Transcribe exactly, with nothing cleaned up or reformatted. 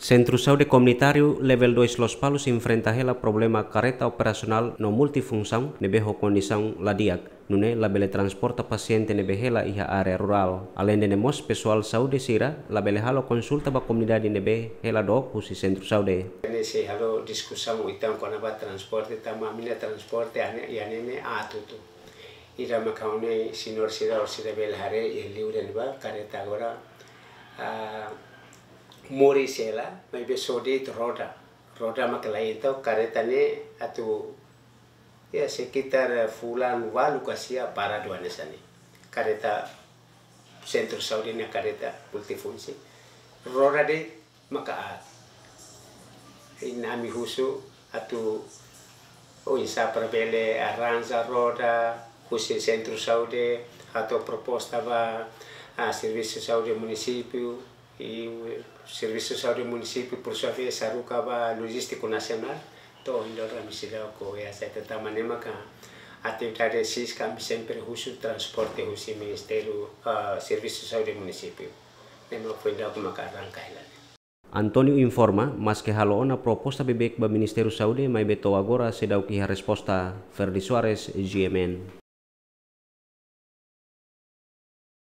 Sentru Saúde Komunitáriu Level dois Lospalos enfrenta hela problema kareta operasionál no multifunsaun ne'ebé ho kondisaun la di'ak, nune'e labele transporta pasiente ne'ebé hela iha área rurál. Aleinde ne'e mós pesoál saúde sira labele halo konsulta ba komunidade ne'ebé hela dook husi sentru saúde. Ne'e sei halo diskusaun uitoan kona-ba transporte, tanba ami-nia transporte ane, iha ne'e ne'e aat hotu. Ida maka ha'u-nia señór sira, sira bele haree iha liur ne'ebá, kareta agora, ah, moris hela, maibé só de'it roda. Roda maka laiha, entaun kareta ne'e atu, ya, sekitar fulan ualu ka sia paradu hanesan ne'e. Kareta sentru saúde nia kareta multifunsi. Roda de'it maka aat. Entaun ami husu atu oinsá para bele arranja roda husi sentru saúde, hato'o proposta ba, ah, servisu saúde munisípiu, i servisu saúde munisípiu, por sua vez, haruka ba lojístiku nasionál. Entaun, ohin loron ami seidauk aseita, tanba ne'e maka atividade sira ami sempre husu transporte husi Ministériu, ah, Servisu Saúde Munisípiu. Ne'e mak foin daudauk maka arranka hela ne'e. António informa, maske halo ona proposta beibeik ba Ministériu Saúde, maibé to'o agora seidauk iha resposta. Ferdi Soares, G M N.